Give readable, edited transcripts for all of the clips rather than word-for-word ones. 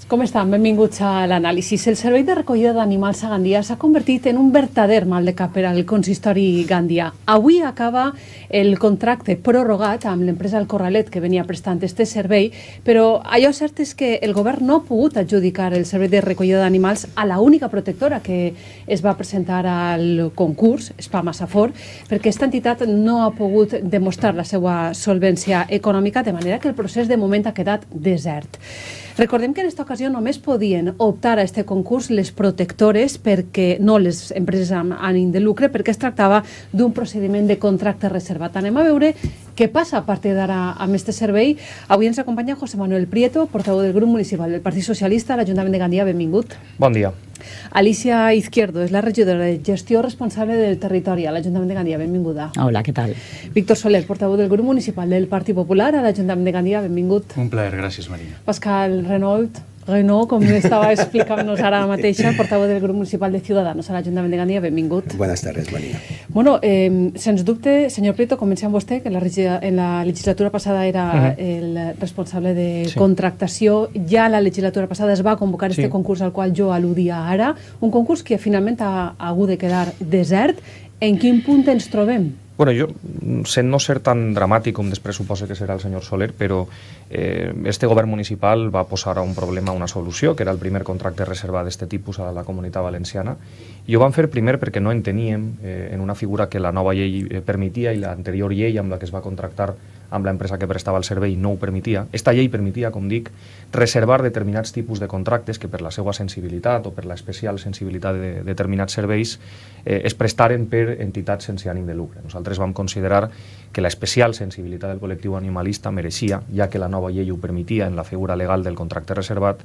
Com estan? Benvinguts a l'anàlisi. El servei de recollida d'animals a Gandia s'ha convertit en un verdader mal de cap per al consistori gandià. Avui acaba el contracte prorrogat amb l'empresa El Corralet que venia prestant este servei, però allò cert és que el govern no ha pogut adjudicar el servei de recollida d'animals a la única protectora que es va presentar al concurs, Spam Safor, perquè aquesta entitat no ha pogut demostrar la seva solvència econòmica, de manera que el procés de moment ha quedat desert. Recordem que en aquesta ocasió només podien optar a aquest concurs les protectores, perquè no les empreses amb ànim de lucre, perquè es tractava d'un procediment de contracte reservat. Anem a veure què passa a partir d'ara amb aquest servei. Avui ens acompanya José Manuel Prieto, portaveu del grup municipal del Partit Socialista a l'Ajuntament de Gandia. Benvingut. Bon dia. Alicia Izquierdo és la regidora de gestió responsable del territori a l'Ajuntament de Gandia. Benvinguda. Hola, què tal? Víctor Soler, portaveu del grup municipal del Partit Popular a l'Ajuntament de Gandia. Benvingut. Un plaer, gràcies, Maria. Pascal Renault, com estava explicant-nos ara mateixa, portaveu del grup municipal de Ciudadanos a l'Ajuntament de Gandia. Benvingut. Buenas tardes, Maria. Bueno, sens dubte, senyor Prieto, comencem amb vostè, que en la legislatura passada era el responsable de contractació. Ja la legislatura passada es va convocar este concurs al qual jo al·ludia ara, un concurs que finalment ha hagut de quedar desert. En quin punt ens trobem? Bueno, jo, sent no ser tan dramàtic com després suposa que serà el senyor Soler, però este govern municipal va posar a un problema una solució, que era el primer contracte reservat d'aquest tipus a la Comunitat Valenciana, i ho vam fer primer perquè no enteníem en una figura que la nova llei permetia i l'anterior llei amb la que es va contractar amb l'empresa que prestava el servei no ho permetia. Esta llei permetia, com dic, reservar determinats tipus de contractes que per la seva sensibilitat o per l'especial sensibilitat de determinats serveis es prestaren per entitats sense ànim de lucre. Nosaltres vam considerar que l'especial sensibilitat del col·lectiu animalista mereixia, ja que la nova llei ho permetia en la figura legal del contracte reservat,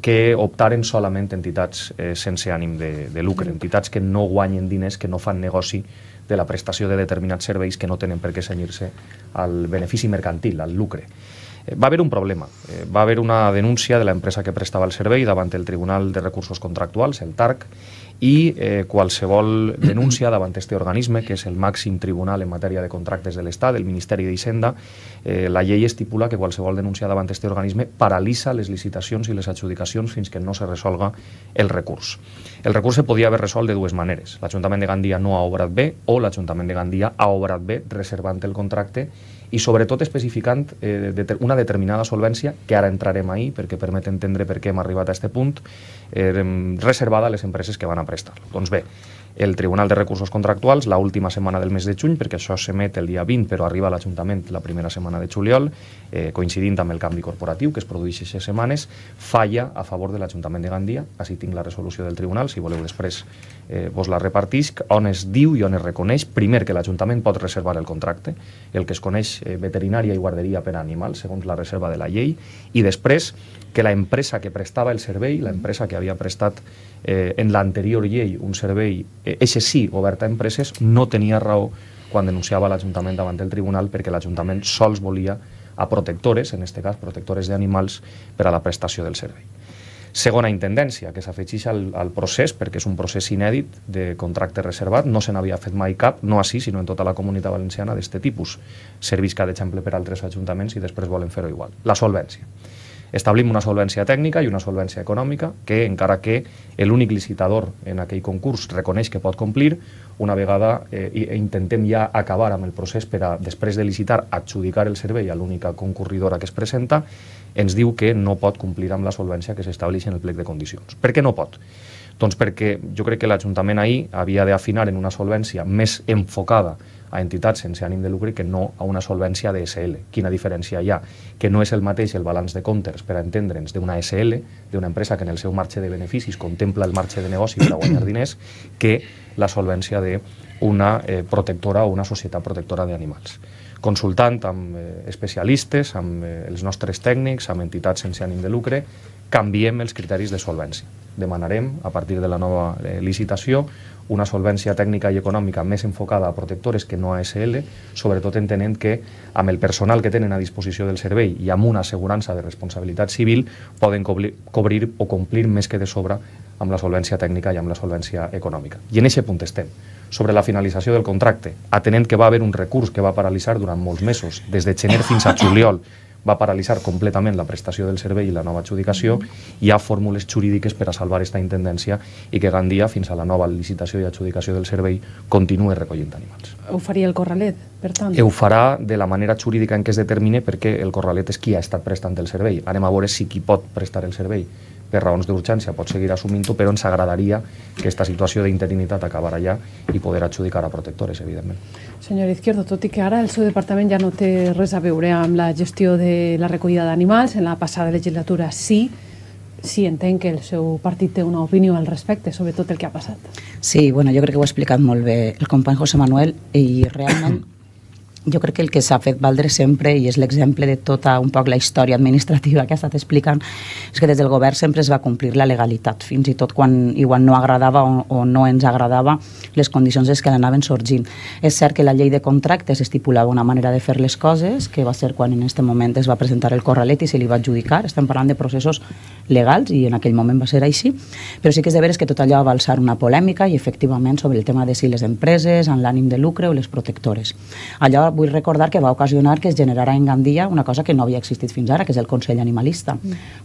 que optaren solament entitats sense ànim de lucre, entitats que no guanyen diners, que no fan negoci de la prestació de determinats serveis que no tenen per què cenyir-se al benefici mercantil, al lucre. Va haver un problema. Va haver una denúncia de l'empresa que prestava el servei davant el Tribunal de Recursos Contractuals, el TARC, i qualsevol denúncia davant aquest organisme, que és el màxim tribunal en matèria de contractes de l'Estat, el Ministeri d'Hisenda, la llei estipula que qualsevol denúncia davant aquest organisme paralitza les licitacions i les adjudicacions fins que no se resolga el recurs. El recurs se podia haver resolt de dues maneres. L'Ajuntament de Gandia no ha obrat bé o l'Ajuntament de Gandia ha obrat bé reservant el contracte i sobretot especificant una determinada solvència, que ara entrarem ahir perquè permet entendre per què hem arribat a aquest punt, reservada a les empreses que van a prestar. Doncs bé, el Tribunal de Recursos Contractuals, la última setmana del mes de juny, perquè això s'emet el dia 20 però arriba a l'Ajuntament la primera setmana de juliol, coincidint amb el canvi corporatiu que es produeix aquestes setmanes, falla a favor de l'Ajuntament de Gandia. Així tinc la resolució del Tribunal, si voleu després vos la repartisc, on es diu i on es reconeix, primer, que l'Ajuntament pot reservar el contracte, el que es coneix veterinària i guarderia per a animals, segons la reserva de la llei, i després que l'empresa que prestava el servei, l'empresa que havia prestat en l'anterior llei un servei, eixe sí, obert a empreses, no tenia raó quan denunciava l'Ajuntament davant del Tribunal, perquè l'Ajuntament sols volia a protectores, en aquest cas protectores d'animals, per a la prestació del servei. Segona intendència, que s'afegeix al procés, perquè és un procés inèdit de contracte reservat, no se n'havia fet mai cap, no així, sinó en tota la Comunitat Valenciana d'aquest tipus. Serveix cada exemple per a altres ajuntaments i després volen fer-ho igual. La solvència. Establim una solvència tècnica i una solvència econòmica que, encara que l'únic licitador en aquell concurs reconeix que pot complir, una vegada intentem ja acabar amb el procés per a, després de licitar, adjudicar el servei a l'única concurridora que es presenta, ens diu que no pot complir amb la solvència que s'estableix en el plec de condicions. Per què no pot? Doncs perquè jo crec que l'Ajuntament ahir havia d'afinar en una solvència més enfocada a entitats sense ànim de lucre que no a una solvència de SL. Quina diferència hi ha? Que no és el mateix el balanç de comptes, per a entendre'ns, d'una SL, d'una empresa que en el seu marge de beneficis contempla el marge de negoci per a guanyar diners, que la solvència d'una protectora o una societat protectora d'animals. Consultant amb especialistes, amb els nostres tècnics, amb entitats sense ànim de lucre, canviem els criteris de solvència. Demanarem, a partir de la nova licitació, una solvència tècnica i econòmica més enfocada a protectores que no a SL, sobretot entenent que amb el personal que tenen a disposició del servei i amb una assegurança de responsabilitat civil poden cobrir o complir més que de sobre amb la solvència tècnica i amb la solvència econòmica. I en aquest punt estem. Sobre la finalització del contracte, atenent que va haver un recurs que va paralitzar durant molts mesos, des de gener fins a juliol, va paralitzar completament la prestació del servei i la nova adjudicació. Hi ha fórmules jurídiques per a salvar aquesta intendència i que Gandia, fins a la nova licitació i adjudicació del servei, continuï recollint animals. Ho faria el Corralet, per tant? Ho farà de la manera jurídica en què es determine, perquè el Corralet és qui ha estat prestant el servei. Anem a veure si qui pot prestar el servei per raons d'urgència pot seguir assumint-ho, però ens agradaria que aquesta situació d'interinitat acabara ja i poder adjudicar a protectores, evidentment. Senyor Izquierdo, tot i que ara el seu departament ja no té res a veure amb la gestió de la recollida d'animals, en la passada legislatura sí entenc que el seu partit té una opinió al respecte, sobre tot el que ha passat. Sí, bueno, jo crec que ho ha explicat molt bé el company José Manuel, i realment jo crec que el que s'ha fet valdre sempre, i és l'exemple de tota un poc la història administrativa que ha estat explicant, és que des del govern sempre es va complir la legalitat, fins i tot quan igual no agradava o no ens agradava les condicions que anaven sorgint. És cert que la llei de contractes estipulava una manera de fer les coses, que va ser quan en aquest moment es va presentar el Corralet i se li va adjudicar. Estem parlant de processos legals i en aquell moment va ser així, però sí que és de veres que tot allò va alçar una polèmica i efectivament sobre el tema de si les empreses amb l'ànim de lucre o les protectores. Allò vull recordar que va ocasionar que es generara en Gandia una cosa que no havia existit fins ara, que és el Consell Animalista.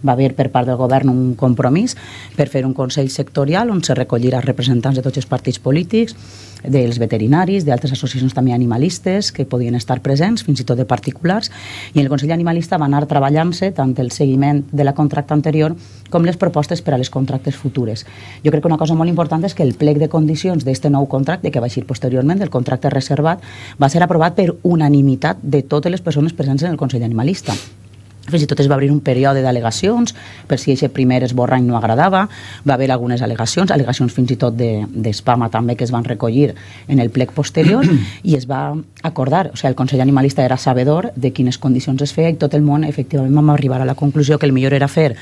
Va haver per part del govern un compromís per fer un Consell sectorial on se recollirà representants de tots els partits polítics, dels veterinaris, d'altres associacions també animalistes que podien estar presents, fins i tot de particulars, i el Consell Animalista va anar treballant-se tant el seguiment de la contracta anterior com les propostes per a les contractes futures. Jo crec que una cosa molt important és que el plec de condicions d'aquest nou contracte, que va eixir posteriorment del contracte reservat, va ser aprovat per unanimitat de totes les persones presents en el Consell Animalista. Fins i tot es va obrir un període d'al·legacions per si aquest primer esborrany no agradava. Va haver algunes al·legacions fins i tot d'espama també, que es van recollir en el plec posterior, i es va acordar, o sigui, el Consell Animalista era sabedor de quines condicions es feia, i tot el món efectivament vam arribar a la conclusió que el millor era fer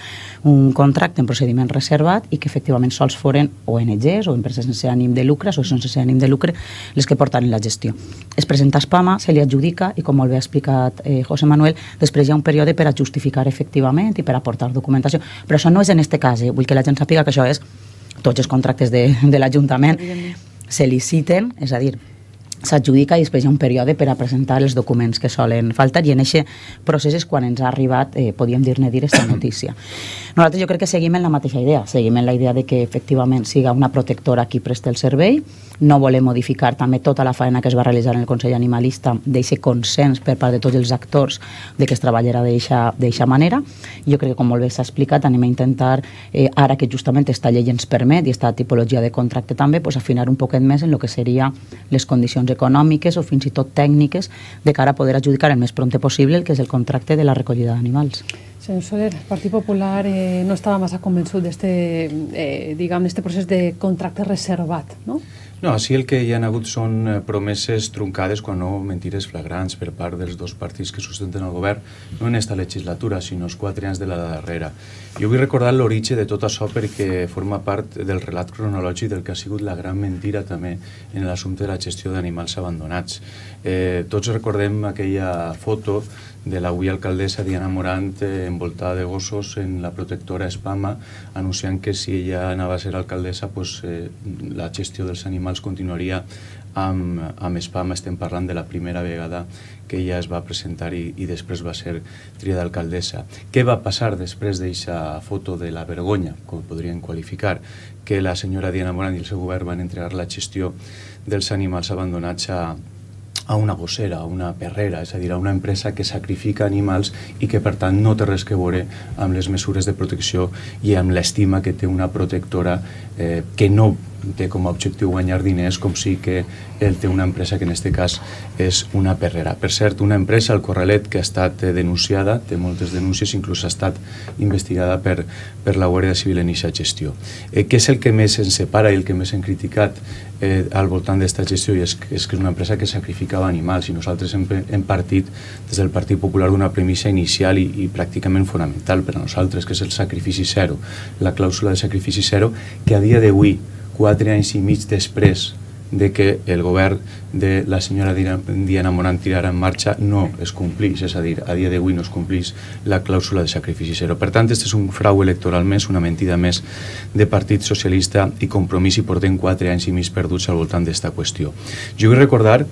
un contracte en procediment reservat i que efectivament sols foren ONGs o empreses sense ànim de lucre, associacions sense ànim de lucre, les que portaven la gestió. Es presenta a espama, se li adjudica i, com molt bé ha explicat José Manuel, després hi ha un període per a justificar efectivament i per aportar documentació. Però això no és en aquest cas, vull que la gent sàpiga que això és tots els contractes de l'Ajuntament se liciten, és a dir, s'adjudica i després hi ha un període per a presentar els documents que solen faltar, i en aquest procés és quan ens ha arribat, podríem dir-ne aquesta notícia. Nosaltres jo crec que seguim en la mateixa idea, seguim en la idea de que efectivament siga una protectora qui presta el servei. No volem modificar també tota la feina que es va realitzar en el Consell Animalista, d'aquest consens per part de tots els actors de que es treballarà d'aquesta manera. Jo crec que, com molt bé s'ha explicat, anem a intentar, ara que justament aquesta llei ens permet, i aquesta tipologia de contracte també, afinar un poquet més en el que seria les condicions econòmiques o fins i tot tècniques de cara a poder adjudicar el més prompte possible el que és el contracte de la recollida d'animals. Senyor Soler, el Partit Popular no estava massa convençut d'aquest procés de contracte reservat, no? No, així el que hi ha hagut són promeses truncades, quan no mentires flagrants, per part dels dos partits que sustenten el govern, no en esta legislatura, sinó els 4 anys de la darrera. Jo vull recordar l'origen de tot això perquè forma part del relat cronològic del que ha sigut la gran mentira també en l'assumpte de la gestió d'animals abandonats. Tots recordem aquella foto de l'avui alcaldessa Diana Morant envoltada de gossos en la protectora Espama, anunciant que si ella anava a ser alcaldessa la gestió dels animals continuaria amb Espama. Estem parlant de la primera vegada que ella es va presentar i després va ser triada alcaldessa. Què va passar després d'aquesta foto de la vergonya, com podrien qualificar? Que la senyora Diana Morant i el seu govern van entregar la gestió dels animals abandonats a una gossera, a una perrera, és a dir, a una empresa que sacrifica animals i que, per tant, no té res que veure amb les mesures de protecció i amb l'estima que té una protectora que no té com a objectiu guanyar diners, com sí que ell té una empresa que en aquest cas és una perrera. Per cert, una empresa, el Corralet, que ha estat denunciada, té moltes denúncies, inclús ha estat investigada per la Guàrdia Civil en aquesta gestió. Què és el que més ens separa i el que més hem criticat al voltant d'aquesta gestió? És que és una empresa que sacrificava animals, i nosaltres hem partit des del Partit Popular d'una premissa inicial i pràcticament fonamental per a nosaltres, que és el sacrifici zero, la clàusula de sacrifici zero, que a dia d'avui, 4 anys i mig després de que el govern de la senyora Diana Morant tirara en marxa, no es complís, és a dir, a dia d'avui no es complís la clàusula de sacrifici zero. Per tant, aquest és un frau electoral més, una mentida més de Partit Socialista i Compromís, i portem 4 anys i mig perduts al voltant d'esta qüestió. Jo vull recordar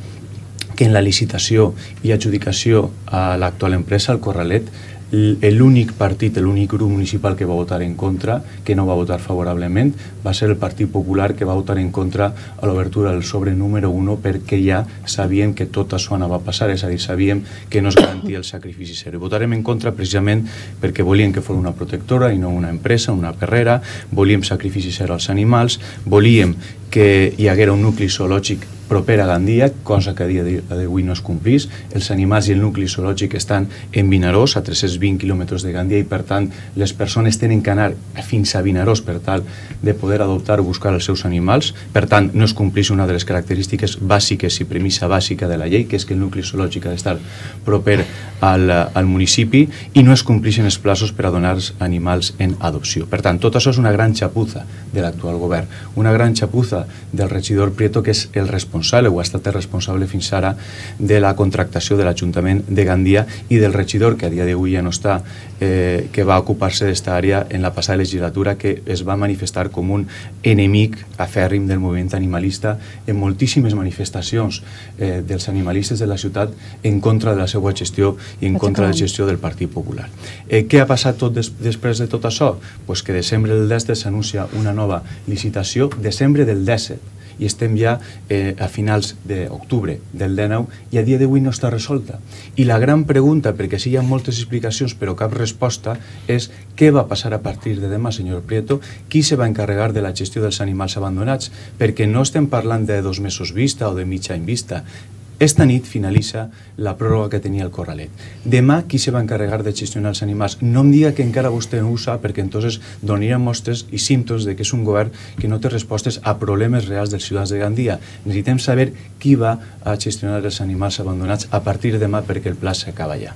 que en la licitació i adjudicació a l'actual empresa, el Corralet, l'únic partit, l'únic grup municipal que va votar en contra, que no va votar favorablement, va ser el Partit Popular, que va votar en contra a l'obertura del sobre número 1 perquè ja sabíem que tot això anava a passar, és a dir, sabíem que no es garantia el sacrifici zero. Votarem en contra precisament perquè volíem que fos una protectora i no una empresa, una perrera, volíem sacrifici zero als animals, volíem que hi haguera un nucli zoològic proper a Gandia, cosa que a dia d'avui no es complís. Els animals i el nucli zoològic estan en Vinaròs, a 320 quilòmetres de Gandia, i per tant les persones tenen que anar fins a Vinaròs per tal de poder adoptar o buscar els seus animals. Per tant, no es complís una de les característiques bàsiques i premissa bàsica de la llei, que és que el nucli zoològic ha d'estar proper al municipi, i no es complixen els plaços per a donar els animals en adopció. Per tant, tot això és una gran xapuza de l'actual govern, una gran xapuza del regidor Prieto, que és el responsable o ha estat el responsable fins ara de la contractació de l'Ajuntament de Gandia, i del regidor, que a dia d'avui ja no està, que va ocupar-se d'esta àrea en la passada legislatura, que es va manifestar com un enemic afèrrim del moviment animalista en moltíssimes manifestacions dels animalistes de la ciutat en contra de la seva gestió i en contra de la gestió del Partit Popular. Què ha passat després de tot això? Pues que desembre del 17 s'anuncia una nova licitació, desembre del 17, i estem ja a finals d'octubre del 19 i a dia d'avui no està resolta. I la gran pregunta, perquè sí hi ha moltes explicacions però cap resposta, és què va passar a partir de demà, senyor Prieto? Qui se va encarregar de la gestió dels animals abandonats? Perquè no estem parlant de 2 mesos vista o de mig any vista. Esta nit finalitza la pròrroga que tenia el Corralet. Demà, qui se va encarregar de gestionar els animals? No em diga que encara vostè no ho sap, perquè entonces donaria mostres i símptomes de que és un govern que no té respostes a problemes reals dels ciutadans de Gandia. Necessitem saber qui va a gestionar els animals abandonats a partir de demà, perquè el pla s'acaba ja.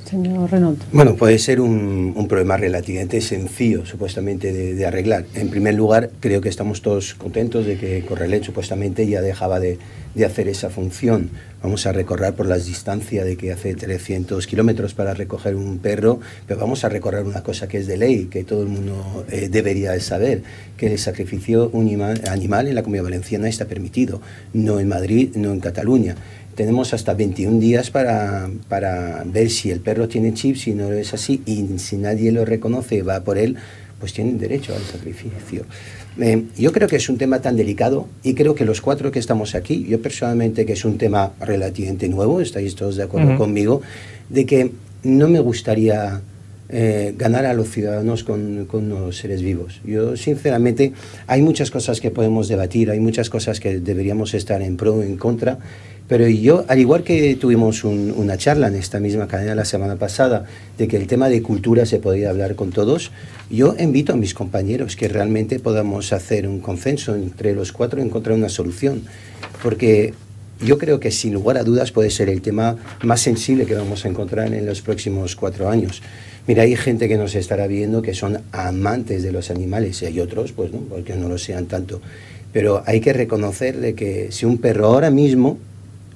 Señor Renaud. Bueno, puede ser un problema relativamente sencillo, supuestamente, de arreglar. En primer lugar, creo que estamos todos contentos de que Corralet supuestamente ya dejaba de hacer esa función. Vamos a recorrer por las distancias de que hace 300 kilómetros para recoger un perro, pero vamos a recorrer una cosa que es de ley, que todo el mundo debería saber, que el sacrificio animal en la Comunidad Valenciana está permitido, no en Madrid, no en Cataluña. Tenemos hasta 21 días para ver si el perro tiene chip, si no es así, y si nadie lo reconoce y va por él, pues tienen derecho al sacrificio. Yo creo que es un tema tan delicado, y creo que los 4 que estamos aquí, yo personalmente, que es un tema relativamente nuevo, estáis todos de acuerdo conmigo, de que no me gustaría ganar a los ciudadanos con los seres vivos. Yo, sinceramente, hay muchas cosas que podemos debatir, hay muchas cosas que deberíamos estar en pro o en contra, pero yo, al igual que tuvimos una charla en esta misma cadena la semana pasada de que el tema de cultura se podía hablar con todos, yo invito a mis compañeros que realmente podamos hacer un consenso entre los 4 y encontrar una solución, porque yo creo que sin lugar a dudas puede ser el tema más sensible que vamos a encontrar en los próximos 4 años. Mira, hay gente que nos estará viendo que son amantes de los animales, y hay otros, pues no, porque no lo sean tanto. Pero hay que reconocer de que si un perro ahora mismo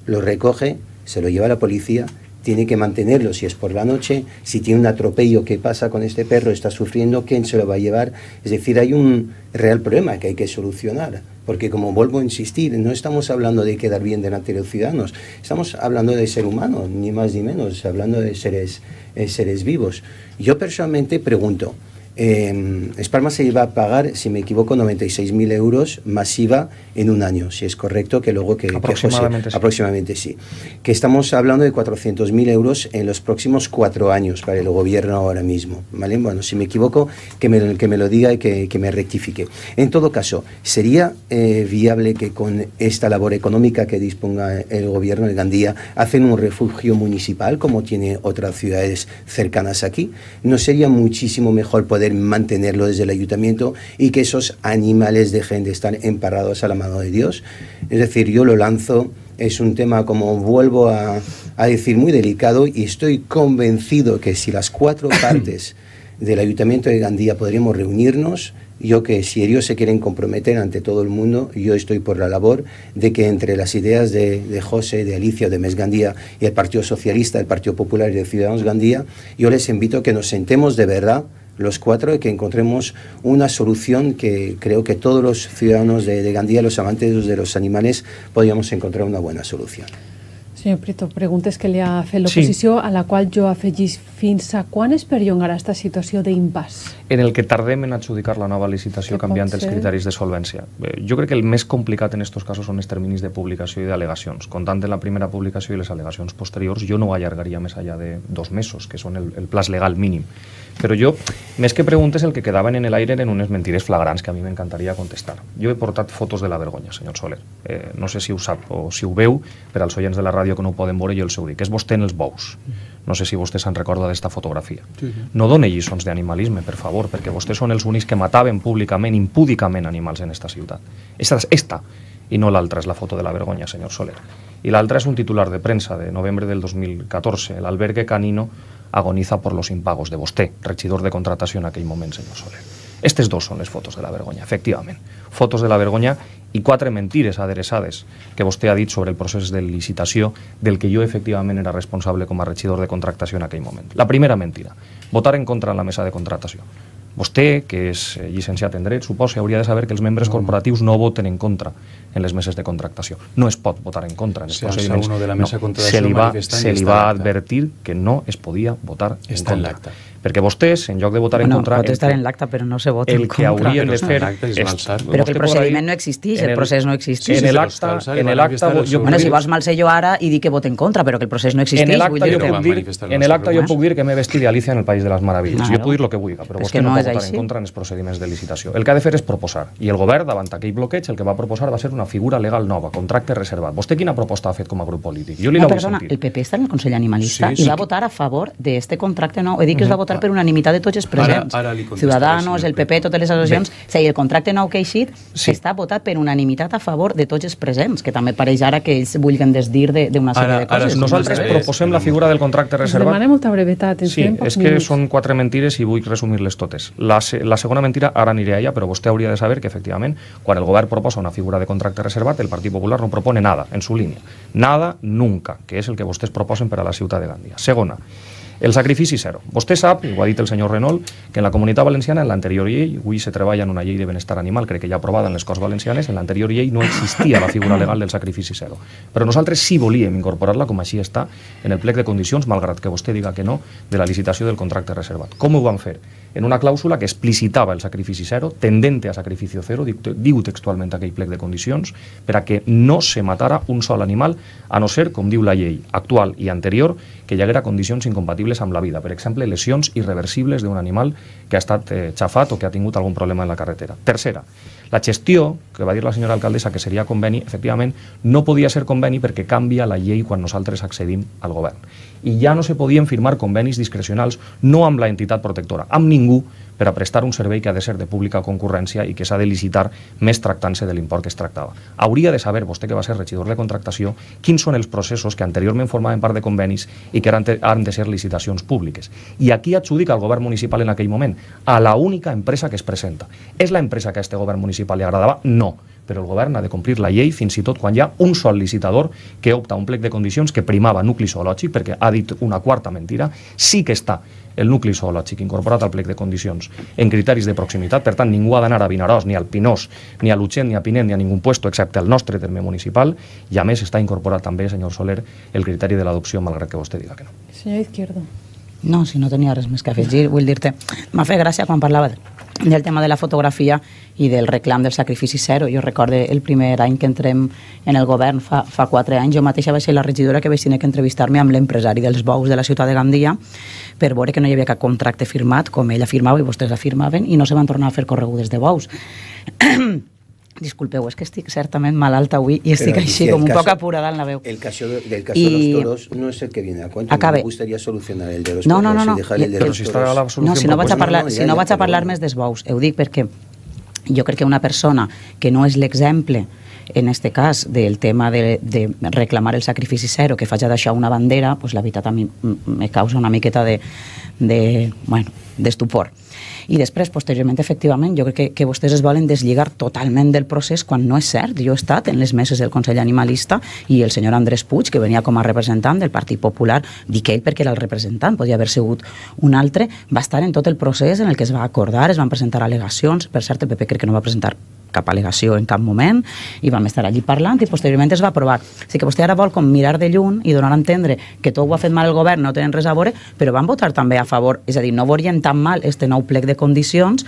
lo recoge, se lo lleva a la policía, tiene que mantenerlo si es por la noche, si tiene un atropello, ¿qué pasa con este perro? ¿Está sufriendo? ¿Quién se lo va a llevar? Es decir, hay un real problema que hay que solucionar, porque, como vuelvo a insistir, no estamos hablando de quedar bien delante de los ciudadanos, estamos hablando de ser humano, ni más ni menos, hablando de seres vivos. Yo personalmente pregunto, Espalma se iba a pagar, si me equivoco, 96.000 euros masiva en un año, si es correcto, que luego aproximadamente, sí. Aproximadamente sí. Que estamos hablando de 400.000 euros en los próximos 4 años para el gobierno ahora mismo, ¿vale? Bueno, si me equivoco, que me lo diga y que me rectifique. En todo caso, ¿sería viable que con esta labor económica que disponga el gobierno de Gandía hacen un refugio municipal como tiene otras ciudades cercanas aquí? ¿No sería muchísimo mejor poder mantenerlo desde el ayuntamiento y que esos animales dejen de estar emparrados a la mano de Dios? Es decir, yo lo lanzo, es un tema, como vuelvo a decir, muy delicado, y estoy convencido que si las 4 partes del ayuntamiento de Gandía podríamos reunirnos, yo que si ellos se quieren comprometer ante todo el mundo, yo estoy por la labor de que entre las ideas de José, de Alicia, de Mes Gandía y el Partido Socialista, el Partido Popular y de Ciudadanos Gandía, yo les invito a que nos sentemos de verdad los 4 y que encontremos una solución que creo que todos los ciudadanos de Gandía, los amantes de los animales, podríamos encontrar una buena solución. Senyor Prieto, preguntes que li ha fet l'oposició, a la qual jo afegís fins a quan es perllongarà aquesta situació d'impàs? En el que tardem en adjudicar la nova licitació canviant els criteris de solvència. Jo crec que el més complicat en aquests casos són els terminis de publicació i d'al·legacions. Comptant en la primera publicació i les al·legacions posteriors, jo no ho allargaria més allà de 2 mesos, que són el plaç legal mínim. Però jo, més que preguntes, el que quedaven en l'aire eren unes mentides flagrants que a mi m'encantaria contestar. Jo he portat fotos de la vergonya, senyor Soler. No sé si ho sap o si ho veu, per als oients de la ràdio que no ho poden veure, jo els ho dic. És vostè en els bous. No sé si vostè se'n recorda d'esta fotografia. No done lliçons d'animalisme, per favor, perquè vostès són els únics que mataven públicament, impúdicament animals en esta ciutat. Esta, i no l'altra, és la foto de la vergonya, senyor Soler. I l'altra és un titular de premsa de novembre del 2014. El albergue canino agoniza por los impagos de vostè, regidor de contratació en aquell moment, senyor Soler. Estes dos són les fotos de la vergonya, efectivament. Fotos de la vergonya i 4 mentides adreçades que vostè ha dit sobre el procés de licitació del que jo efectivament era responsable com a regidor de contractació en aquell moment. La primera mentida, votar en contra en la mesa de contratació. Vostè, que és llicenciat en dret, suposa, hauria de saber que els membres corporatius no voten en contra en les meses de contractació. No es pot votar en contra en els procediments. Se li va advertir que no es podia votar en contra. Perquè vostès, en lloc de votar en contra... Pot estar en l'acta, però no se vota en contra. El que haurien de fer... Però que el procediment no existeix, el procés no existeix. En l'acta... Bueno, si vols malser jo ara i dic que vot en contra, però que el procés no existeix... En l'acta jo puc dir que m'he vestit d'Alicia en el País de les Meravilles. Jo puc dir el que vulgui, però vostè no pot votar en contra en els procediments de licitació. El que ha de fer és proposar. I el govern, davant aquell bloqueig, el que va proposar va ser una figura legal nova, contracte reservat. Vostè quina proposta ha fet com a grup polític? Jo li la vull sentir. El PP està en el Consell Animalista i va votar a favor d'este contracte nou. He dit que es va votar per unanimitat de tots els presents. Ciudadanos, el PP, totes les associacions. O sigui, el contracte nou que ha eixit està votat per unanimitat a favor de tots els presents, que també pareix ara que ells vulguen desdir d'una sèrie de coses. Nosaltres proposem la figura del contracte reservat. Demanem molta brevetat. Sí, és que són 4 mentides i vull resumir-les totes. La segona mentira, ara aniré a ella, però vostè hauria de saber que, efectivament, quan el govern proposa una figura de contracte reservat, el Partit Popular no propone nada en su línia. Nada, nunca, que és el que vostès proposen per a la ciutat de Gandia. Segona, el sacrifici zero. Vostè sap, i ho ha dit el senyor Renault, que en la Comunitat Valenciana, en l'anterior llei, avui se treballa en una llei de benestar animal, crec que ja aprovada en les Corts Valencianes, en l'anterior llei no existia la figura legal del sacrifici zero. Però nosaltres sí volíem incorporar-la, com així està, en el plec de condicions, malgrat que vostè diga que no, de la licitació del contracte reservat. Com ho van fer? En una clàusula que explicitava el sacrifici zero, tendente a sacrificio zero, diu textualment aquell plec de condicions, per a que no se matara un sol animal, a no ser, com diu la llei actual i anterior, que hi haguera condicions incompatibles amb la vida. Per exemple, lesions irreversibles d'un animal que ha estat xafat o que ha tingut algun problema en la carretera. Tercera, la gestió, que va dir la senyora alcaldessa que seria conveni, efectivament, no podia ser conveni perquè canvia la llei quan nosaltres accedim al govern. I ja no se podien firmar convenis discrecionals, no amb la entitat protectora, amb ningú, per a prestar un servei que ha de ser de pública concurrència i que s'ha de licitar més tractant-se de l'import que es tractava. Hauria de saber, vostè que va ser regidor de contractació, quins són els processos que anteriorment formaven part de convenis i que han de ser licitacions públiques. I aquí adjudica el govern municipal en aquell moment a la única empresa que es presenta. És la empresa que a este govern municipal li agradava? No. Però el govern ha de complir la llei fins i tot quan hi ha un sol licitador que opta a un plec de condicions que primava nucli zoològic, perquè ha dit una quarta mentira, sí que està el nucli zoològic incorporat al plec de condicions en criteris de proximitat, per tant ningú ha d'anar a Vinaròs, ni al Pinós, ni a l'Utxent, ni a Pinet, ni a ningú puesto excepte el nostre terme municipal, i a més està incorporat també, senyor Soler, el criteri de l'adopció, malgrat que vostè diga que no. Senyor Izquierdo. No, si no tenia res més que afegir, vull dir-te, m'ha fet gràcia quan parlava del tema de la fotografia i del reclam del sacrifici zero. Jo recorde el primer any que entrem en el govern, fa 4 anys, jo mateixa vaig ser la regidora que vaig tenir que entrevistar-me amb l'empresari dels bous de la ciutat de Gandia per veure que no hi havia cap contracte firmat, com ell afirmava i vostès afirmaven, i no se van tornar a fer corregudes de bous. Disculpeu, és que estic certament malalta avui i estic així com un poc apurada en la veu. El caso de los toros no es el que viene a cuento. Me gustaría solucionar el de los toros y dejar el de los toros. No, si no vaig a parlar més dels bous, ho dic perquè jo crec que una persona que no és l'exemple en este cas del tema de reclamar el sacrifici zero, que faig d'això una bandera, pues la veritat a mi me causa una miqueta d'estupor. I després, posteriorment, efectivament, jo crec que vostès es volen deslligar totalment del procés quan no és cert. Jo he estat en les meses del Consell Animalista i el senyor Andrés Puig, que venia com a representant del Partit Popular, dic ell perquè era el representant, podia haver sigut un altre, va estar en tot el procés en el que es va acordar, es van presentar al·legacions, per cert, el PP crec que no va presentar cap al·legació en cap moment, i vam estar allí parlant i posteriorment es va aprovar. O sigui que vostè ara vol com mirar de lluny i donar a entendre que tot ho ha fet mal el govern, no tenen res a veure, però van votar també a favor, és a dir, no veurien tan mal este nou plec de condicions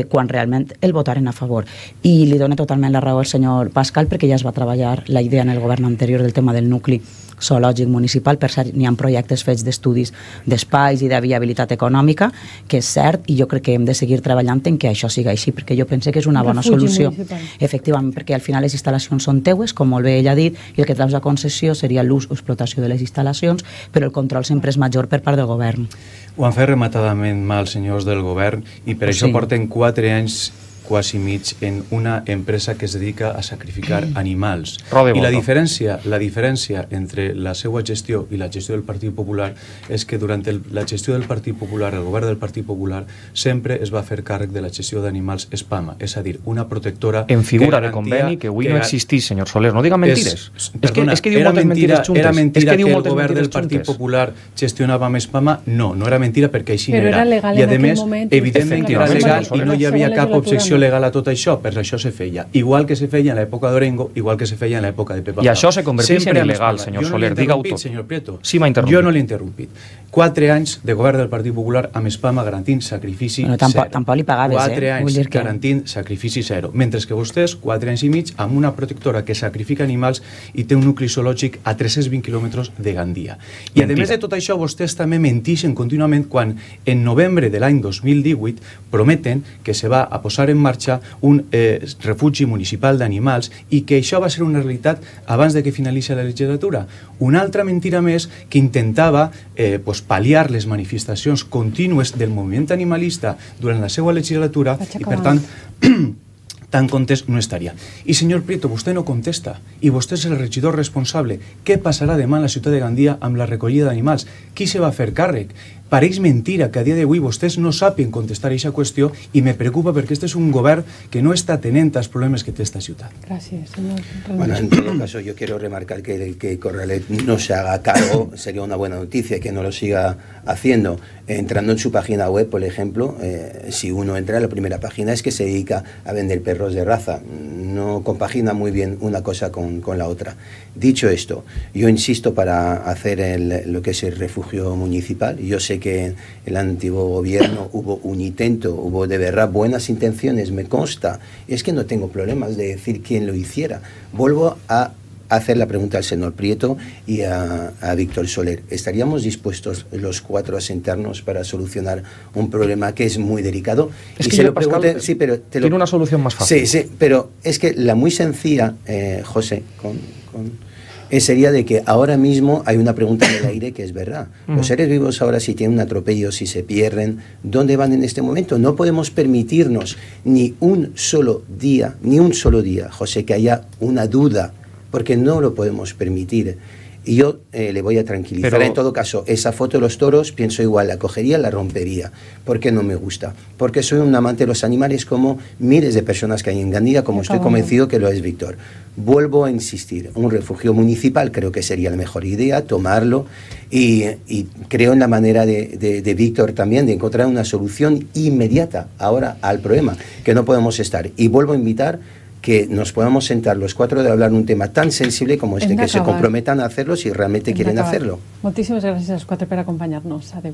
quan realment el votaren a favor. I li dono totalment la raó al senyor Pascal perquè ja es va treballar la idea en el govern anterior del tema del nucli zoològic municipal. Per cert, n'hi ha projectes fets d'estudis d'espais i de viabilitat econòmica, que és cert, i jo crec que hem de seguir treballant en que això siga així, perquè jo penso que és una bona solució. Efectivament, perquè al final les instal·lacions són teues, com molt bé ell ha dit, i el que treus a concessió seria l'ús o explotació de les instal·lacions, però el control sempre és major per part del govern. Ho han fet rematadament mal, senyors del govern, i per això porten 4 anys quasi mig en una empresa que es dedica a sacrificar animals. I la diferència entre la seva gestió i la gestió del Partit Popular és que durant la gestió del Partit Popular, el govern del Partit Popular, sempre es va fer càrrec de la gestió d'animals espama, és a dir, una protectora... En figura de conveni que avui no existís, senyor Soler, no diga mentides. Perdona, era mentira que el govern del Partit Popular gestionava amb espama? No, no era mentira perquè així no era. I a més, evidentment que era legal i no hi havia cap objecció legal a tot això, per això se feia. Igual que se feia en l'època d'Orengo, igual que se feia en l'època de Pepa Pau. I això se converteix en il·legal, senyor Soler, diga-ho tot. Senyor Prieto, sí m'ha interrompit. Jo no l'he interrompit. 4 anys de govern del Partit Popular amb espama garantint sacrifici zero. Tampoc li pagaves, 4 anys garantint sacrifici zero. Mentre que vostès, 4 anys i mig, amb una protectora que sacrifica animals i té un nucli zoològic a 320 quilòmetres de Gandia. I a més de tot això, vostès també mentixen contínuament quan en novembre de l'any 2018 prometen que se va a posar en marxa un refugi municipal d'animals i que això va ser una realitat abans de que finalitzi la legislatura. Una altra mentira més que intentava pal·liar les manifestacions contínues del moviment animalista durant la seva legislatura i, per tant, tan contest no estaria. I, senyor Prieto, vostè no contesta i vostè és el regidor responsable. Què passarà demà en la ciutat de Gandia amb la recollida d'animals? Qui se va fer càrrec? Pareix mentira que a dia d'avui vostès no sàpien contestar a aquesta qüestió i me preocupa perquè este és un govern que no està atenent als problemes que té esta ciutat. Gracias, señor. Bueno, en todo caso, yo quiero remarcar que Corralet no se haga cargo, sería una buena noticia que no lo siga haciendo. Entrando en su página web, por ejemplo, si uno entra a la primera página es que se dedica a vender perros de raza. No compagina muy bien una cosa con la otra. Dicho esto, yo insisto para hacer lo que es el refugio municipal. Yo sé que en el antiguo gobierno hubo un intento, hubo de verdad buenas intenciones, me consta. Es que no tengo problemas de decir quién lo hiciera. Vuelvo a hacer la pregunta al señor Prieto y a Víctor Soler. ¿Estaríamos dispuestos los 4 a sentarnos para solucionar un problema que es muy delicado? Es y que se lo Pascal, pregunté, sí, pero tiene una solución más fácil. Sí, pero es que la muy sencilla, José, sería de que ahora mismo hay una pregunta en el aire que es verdad. Los seres vivos ahora, si tienen un atropello, si se pierden, ¿dónde van en este momento? No podemos permitirnos ni un solo día, José, que haya una duda, porque no lo podemos permitir. Y yo le voy a tranquilizar. Pero en todo caso, esa foto de los toros, pienso igual, la cogería, la rompería. ¿Por qué no me gusta? Porque soy un amante de los animales como miles de personas que hay en Gandia, como estoy convencido que lo es Víctor. Vuelvo a insistir, un refugio municipal creo que sería la mejor idea, tomarlo, y creo en la manera de Víctor también de encontrar una solución inmediata ahora al problema, que no podemos estar. Y vuelvo a invitar que nos podamos sentar los 4 de hablar un tema tan sensible como este, que se comprometan a hacerlo si realmente quieren hacerlo. Moltíssimes gràcies als 4 per acompanyar-nos. Adéu.